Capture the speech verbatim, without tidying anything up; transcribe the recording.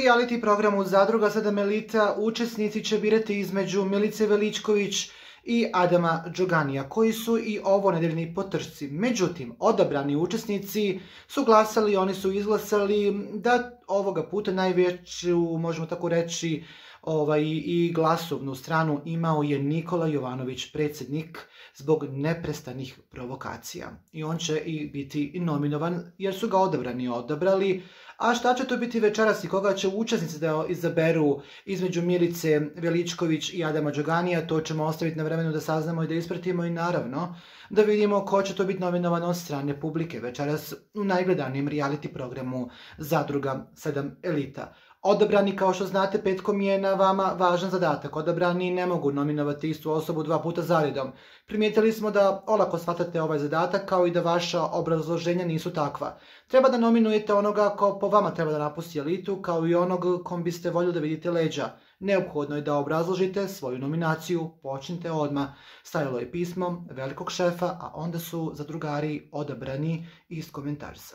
reality programu Zadruga sedam Elita učesnici će birati između Milice Veličković i Adama Đoganija, koji su i ovo nedeljni po trčci. Međutim, odabrani učesnici su glasali, oni su izglasali da ovoga puta najveću, možemo tako reći, ovaj, i glasovnu stranu imao je Nikola Jovanović, predsjednik, zbog neprestanih provokacija. I on će i biti nominovan jer su ga odabrani odabrali. A šta će to biti večeras i koga će učesnici da izaberu između Milice Veličković i Adama Đoganija, to ćemo ostaviti na vremenu da saznamo i da ispratimo i naravno da vidimo ko će to biti nominovan od strane publike večeras u najgledanijem reality programu Zadruga sedam Elita. Odabrani, kao što znate, petkom je na vama važan zadatak. Odabrani ne mogu nominovati istu osobu dva puta zaredom. Primijetili smo da olako shvatate ovaj zadatak, kao i da vaša obrazloženja nisu takva. Treba da nominujete onoga ko po vama treba da napusti elitu, kao i onog kom biste voljeli da vidite leđa. Neophodno je da obrazložite svoju nominaciju, počnite odmah. Stajalo je pismo velikog šefa, a onda su zadrugari odabrani i iskomentarisali.